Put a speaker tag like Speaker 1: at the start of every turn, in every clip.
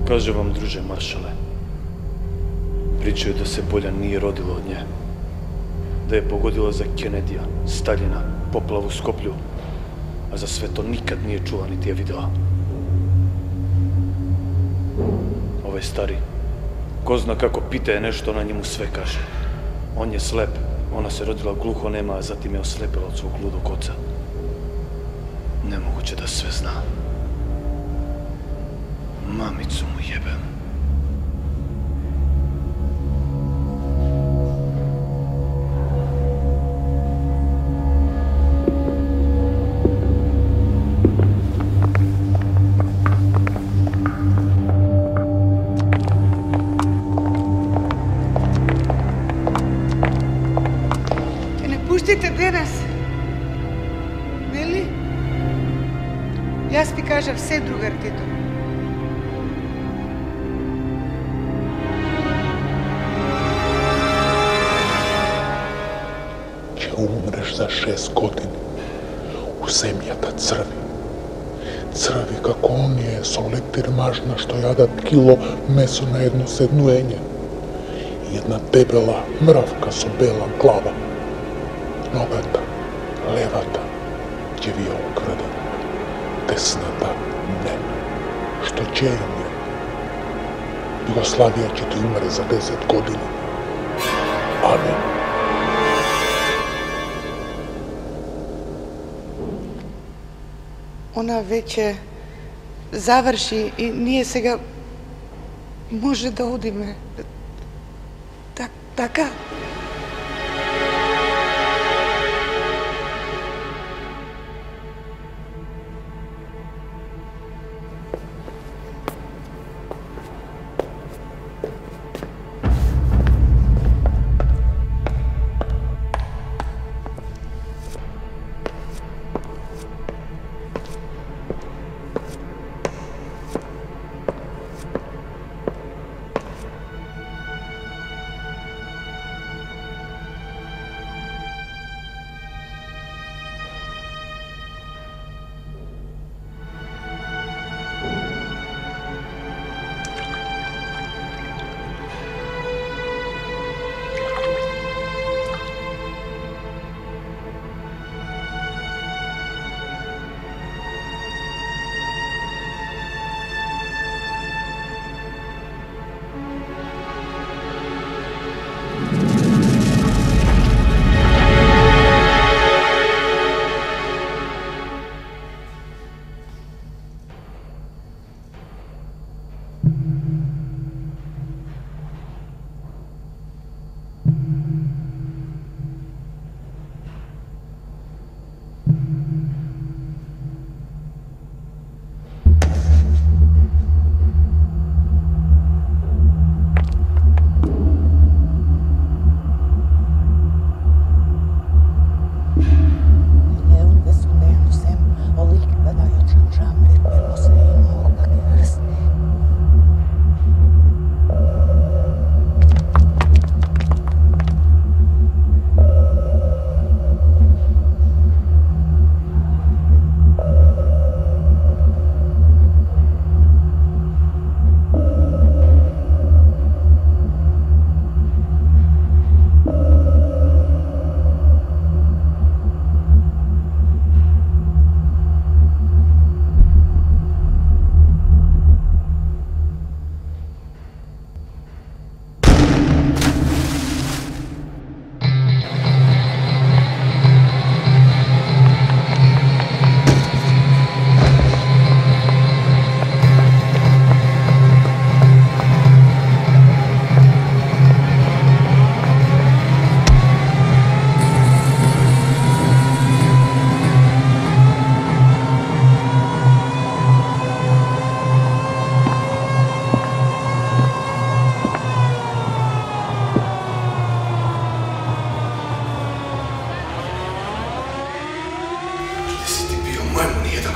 Speaker 1: Каже вам, друже маршале, причају да се Бољан nije родила од нje, да je погодила за Кенедија, Сталина, поплаву Скоплју, а за свето никад nije чула нити ја видела. Овој стари, ko zna како питае нешто, на njemu све каже. Он je слеп, она се родила глухонема, а затим je ослепела од свог лудог оца. Немогуќе да све зна. Мамицу му јебем.
Speaker 2: Ке не пуштите денес, нели? Јас ви кажав се, другар Тито.
Speaker 3: Умреш за 6 години. У земјата црви. Црви како оние со лептирмажна што јадат кило месо на едно седнуење. И една дебела мравка со бела глава. Ногата, левата, ќе ви ја украде. Десната не. Што ќе им е? Југославија ќе ти умре за 10 години. Амин.
Speaker 2: Она веќе заврши и ние сега може да одиме. Така?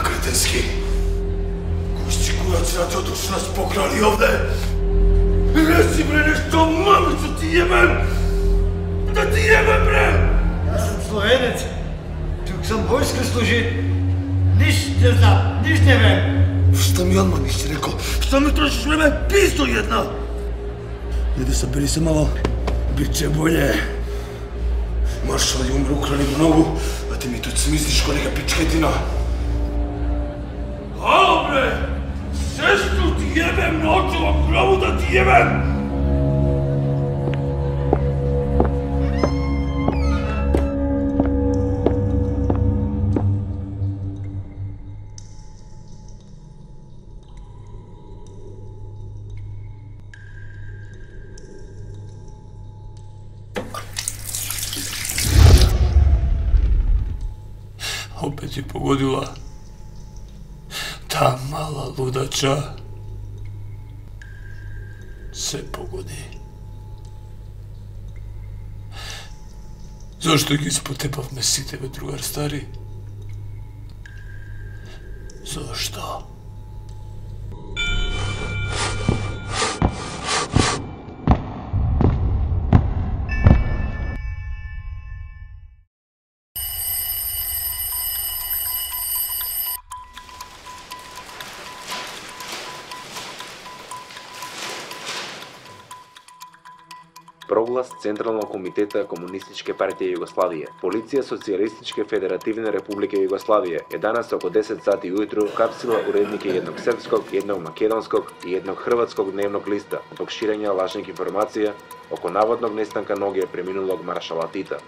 Speaker 4: Кретенски. Кој курац радиоточ нас покрали овде? Рeci бре нешто, мамицу ти јебем! Да ти јебем, бре!
Speaker 5: Јас сум словенец. Тук сам војска служи. Ниш не знам, ниш не вем.
Speaker 4: Што ми одма нisi рекол? Што ми трошиш време? Писто една! Иди събери се мало. Биче болje. Маршал je umro, ukrali mnogo, a ti mi tu smisliš ko neka pičketina. Halo bre! Sestru ti jebem, noću glavu da ti jebem!
Speaker 5: Opet je pogodila ta mala ludača. Sve pogodi. Zašto ги спотепавме сите, бе, другар стари? Зошто?
Speaker 6: Проглас Централна комитета Комунистичке партија Југославија. Полиција Социјалистичке Федеративна Република Југославија е данас око 10 сати ујутру капсила уредники едног српског, едног македонског и едног хрватског дневног листа због ширење лажна информација око наводног нестанка ноге преминулог маршала Тита.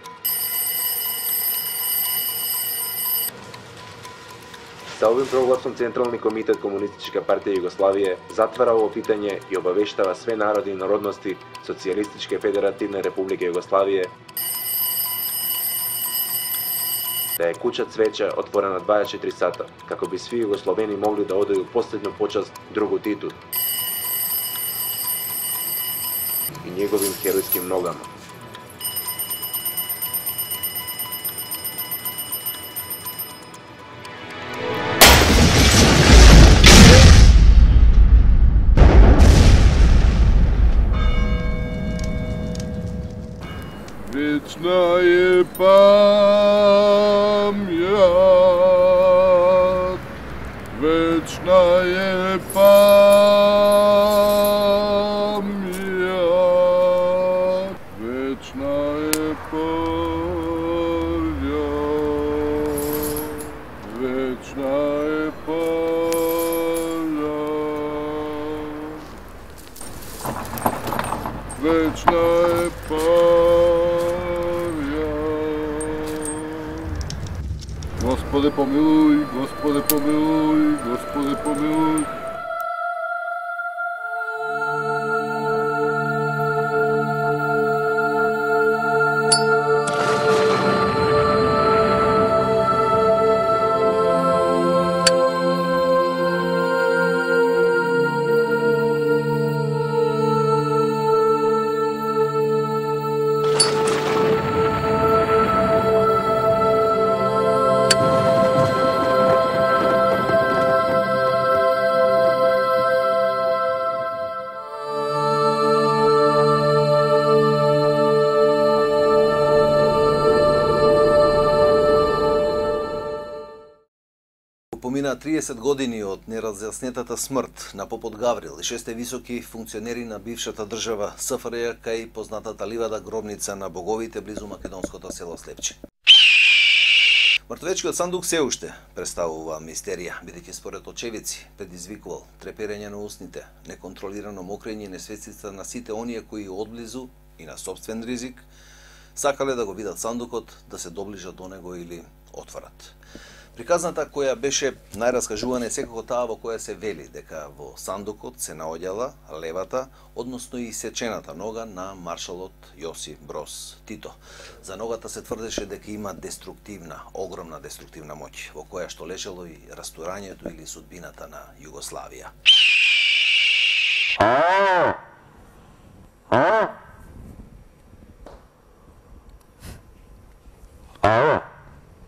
Speaker 6: Sa ovim прогласом Централни комитет Комунистичка партија Југославија затвара ово питање и обавештава све народи и народности Социјалистичке Федеративна Република Југославија да е куќа цвеќа отворена 24 сата, како би сви југословени могли да одају последну почаст другу Титу и неговим херојским ногама.
Speaker 3: Вечна е памјат, вечна е памјат, вечна е памјат, вечна е памјат, вечна е памјат. Господи помилуј, Господи помилуј, Господи помилуј.
Speaker 7: Помина 30 години од неразјаснетата смрт на попот Гаврил и 6 високи функционери на бившата држава СФРЈ кај познатата ливада гробница на боговите близу македонското село Слепче. Мртвечкиот сандук се уште представува мистерија, бидејќи според очевици предизвикувал треперење на устните, неконтролирано мокрење и несвесица на сите оние кои одблизу и на собствен ризик сакале да го видат сандукот, да се доближат до него или отворат. Приказната која беше најраскажувана е секако таа во која се вели дека во сандукот се наоѓала левата, односно и сечената нога на маршалот Јосип Броз Тито. За ногата се тврдеше дека има деструктивна, огромна деструктивна моќ, во која што лежело и растурањето или судбината на Југославија.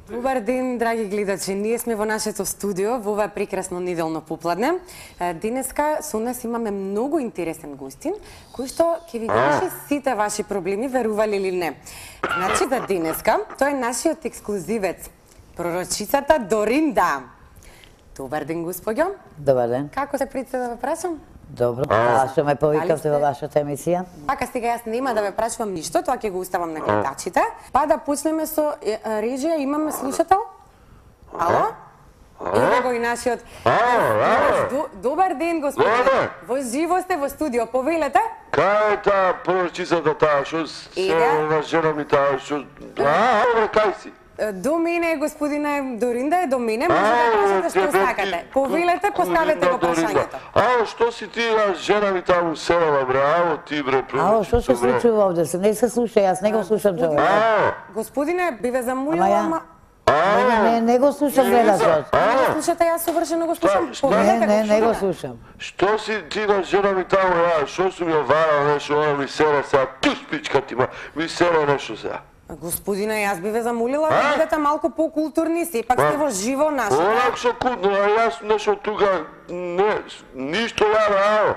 Speaker 8: Добар ден, драги гледачи. Ние сме во нашето студио во ова прекрасно неделно попладне. Денеска со нас имаме многу интересен гостин, кој што ќе ви реши сите ваши проблеми, верували или не. Значи за денеска, тој е нашиот ексклузивец, пророчицата Доринда. Добар ден, господјо.
Speaker 9: Добар ден.
Speaker 8: Како се прицел да ве прашам?
Speaker 9: Добро. А што ме повикавте во вашата емисија?
Speaker 8: Така сега јас нема да ве прашувам ништо, тоа ќе го уставам на гледачите. Па да почнеме со режија, имаме слушател? Ало? Еве го и нашиот. Добар ден, господине. Во живо сте во студио, повелете?
Speaker 10: Кај е таа пророчицата таа, што се на жена ми таа, што... кај си?
Speaker 8: До мене, господине Доринда е до мене, може да кажете што сакате. Повелете, поставете го прашањето.
Speaker 10: Што си ти, жена ми таму селала, бре, ти, бре,
Speaker 9: Ало, што се случува овде? Не се слуша, јас не го слушам човек.
Speaker 8: Господине, би ве замолила, ама...
Speaker 9: Не го слушам гледачот.
Speaker 8: Не го слушате, јас совршено го слушам.
Speaker 9: Не го слушам.
Speaker 10: Што си ти на жена ми таму, што сум ја варал нешто, она ми сера сега, туш пичка ти ми сера нешто сега.
Speaker 8: Господине, јас би ве замолила да бидете малку покултурни, сепак сте во живо наше.
Speaker 10: Онак со културно, јас нешто тука, ништо ја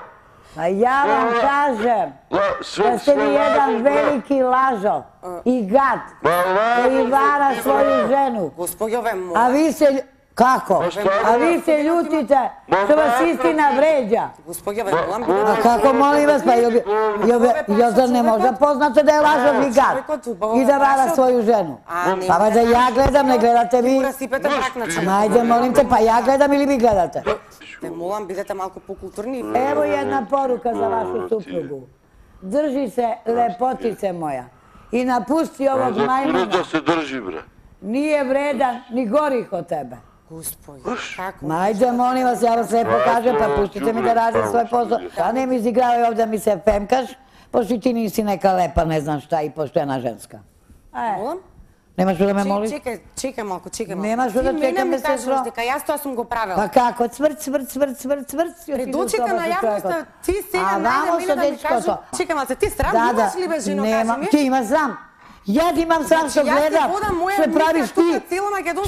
Speaker 9: А ја вам кажем, да сте ви еден велики лажо и гад, кој вара своју жену.
Speaker 8: Господјо, ве молам.
Speaker 9: А ви се... Како? А ви се љутите што вас истина вреđа.
Speaker 8: Господјо, ве молам.
Speaker 9: А како молим вас, па јозар не може да познате да е лажов и гад и да вара своју жену. Па да ја гледам, не гледате ви. Ајде, молим те, па ја гледам или ви гледате?
Speaker 8: Ве молам, бидете малку покултурни.
Speaker 9: Ево една порука за вашу супругу. Држи се, лепотице моја. И напусти овог мајмуна.
Speaker 10: Да се држи, бре.
Speaker 9: Nije vredan ni gorih od tebe.
Speaker 8: Господи, како?
Speaker 9: Ајде, молим вас, ја вас лепо кажем, па пуштите ми да радим свој посол. А не ми изигравај овде ми се фемкаш, пошто ти ниси нека лепа, не знам шта и поштена женска.
Speaker 8: Молам?
Speaker 9: Немаш што да ме молиш?
Speaker 8: Чекај малку.
Speaker 9: Немаш што да чекаме, сестро?
Speaker 8: Дека јас тоа сум го правила.
Speaker 9: Па како, цврт.
Speaker 8: Пред очите на јавноста, ти сега најде да ми кажеш, чекам, а се ти срам имаш ли бе, жено, кажи ми?
Speaker 9: Ти има срам. Јас имам срам што гледам, што правиш ти,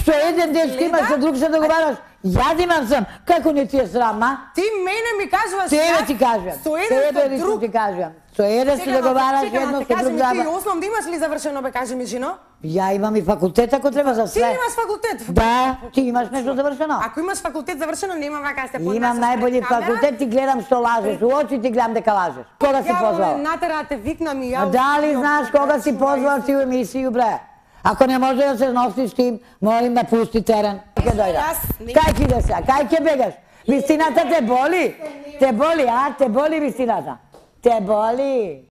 Speaker 9: што еден ден што имаш, што друг се договараш. Јас имам срам. Како не ти е срам, а?
Speaker 8: Ти мене ми кажуваш
Speaker 9: Тебе ти кажам. Тебе лично ти кажам. Со еден се договараш, едно со друг
Speaker 8: заба. Ти основно имаш ли завршено, бе, кажи ми, жено?
Speaker 9: Ја имам и факултет, ако треба за све.
Speaker 8: Ти имаш факултет?
Speaker 9: Да, ти имаш нешто завршено.
Speaker 8: Ако имаш факултет завршено, нема вака се поднасаш.
Speaker 9: Имам најбољи факултет, ти гледам што лажеш. У очи ти гледам дека лажеш. Кога си позвал?
Speaker 8: Натера те викнам и ја.
Speaker 9: Дали знаеш кога си позвал ти у емисију, бре? Ако не може да се носиш тим, молим да пусти терен. Ке дојда. Кај ќе идеш сега? Кај ќе бегаш? Вистината те боли? Те боли, а? Те боли вистината? Те боли?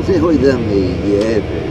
Speaker 11: Nemoj da me jebeš.